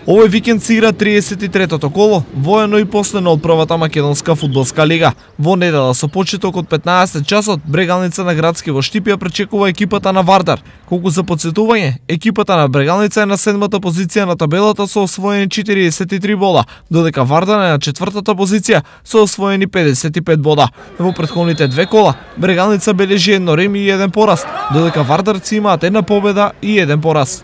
Овој викенд се игра 33-тото коло, воено и последно од првата македонска фудбалска лига. Во недела со почеток од 15 часот, Брегалница на Градски во Штипја пречекува екипата на Вардар. Колку за потсетување, екипата на Брегалница е на 7-та позиција на табелата со освоени 43 бода, додека Вардар е на 4-та позиција со освоени 55 бода. Во претходните две кола, Брегалница бележи едно реми и еден пораз, додека Вардарци имаат една победа и еден пораз.